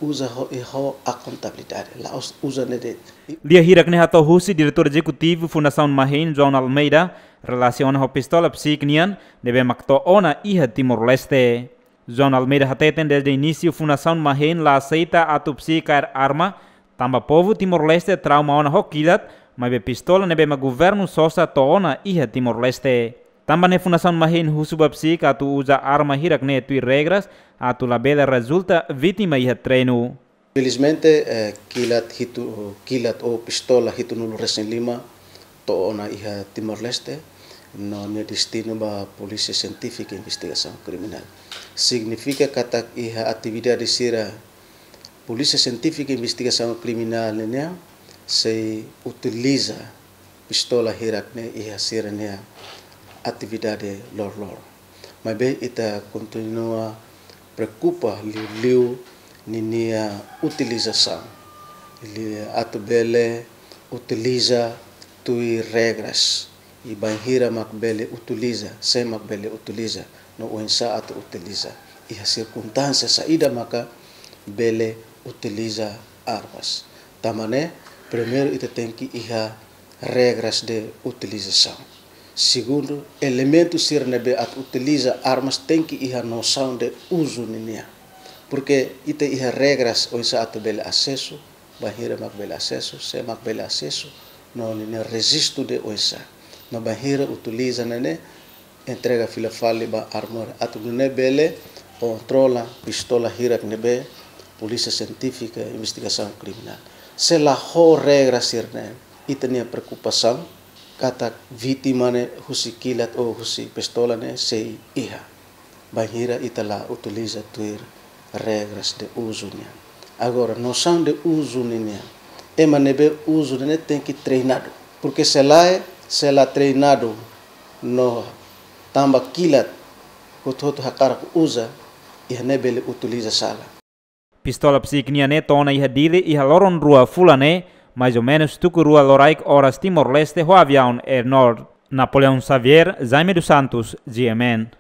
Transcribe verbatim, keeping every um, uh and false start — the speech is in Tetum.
Uza ho, i ho akontabilidade, la'ós uza ne'e de'it. Lia hirak ne'e hato'o husi Diretór Ezekutivu Fundasaun MAHEIN, João Almeida, relasiona ho pistola psíkika nian, ne'ebé mak to'o ona iha Timor-Leste. João Almeida hateten dezde inísiu Fundasaun MAHEIN la aseita atu psíkika kaer arma, tanba povu Timor-Leste trauma ona ho kilat, maibé pistola ne'ebé mak governu sosa to'o ona iha Timor-Leste. Tanba ne'e Fundasaun MAHEIN husu ba psíkika atu uza arma hirak ne'e tuir regras, atu labele rezulta vítima iha treinu. Felizmente, eh, kilat hitu, kilat ou pistola hitunulu resin lima to'o ona iha Timor-Leste, no nia destinu ba Polísia Sientífika Investigasaun Kriminál. Signifika katak iha atividade sira Polísia Sientífika Investigasaun Kriminál nian sei utiliza pistola hirak ne'e iha sira-nia atividade loroloron. Maibé ita kontinua preokupa liuliu ninia utilizasaun. Liu atu bele utiliza tuir regras. I bainhira mak bele utiliza, sé mak bele utiliza, no oinsá atu utiliza. Iha sirkunstánsia saida maka bele utiliza armas. Tanba ne'e, primeiru ita tenke iha regras de utilizasaun. Segundu, elementu sira ne'ebé atu utiliza armas tenke iha nosaun de uzu ninian. Porke ita iha regras oinsá atu bele asesu, bainhira mak bele asesu, sé mak bele asesu, no ninia rejistu de oinsá. No bainhira utiliza ne'e ne'e, entrega fila fali ba armória atu nune'e bele kontrola pistola hirak ne'ebé Polísia Sientífika Investigasaun Kriminál. Se la ho regra sira-ne'e, ita-nia preokupasaun katak vítima ne'e husi kilat ou husi pistola ne'e sei iha. Bainhira ita la utiliza tuir regras de uzu nian. Agora, nosaun de uzu ninian, ema ne'ebé uzu ne'e ne'e tenke treinadu. Porke se lae, se la treinadu no tanba kilat hotu-hotu hakarak uza, iha ne'e bele utiliza sala. Pistola psíkika nian ne'e to'o ona iha Dili iha loron rua fulan ne'e, mais ou menus tuku rua loraik oras Timor-Leste ho aviaun Air Nord. Napoleão Xavier, Jaime dos Santos, G M N.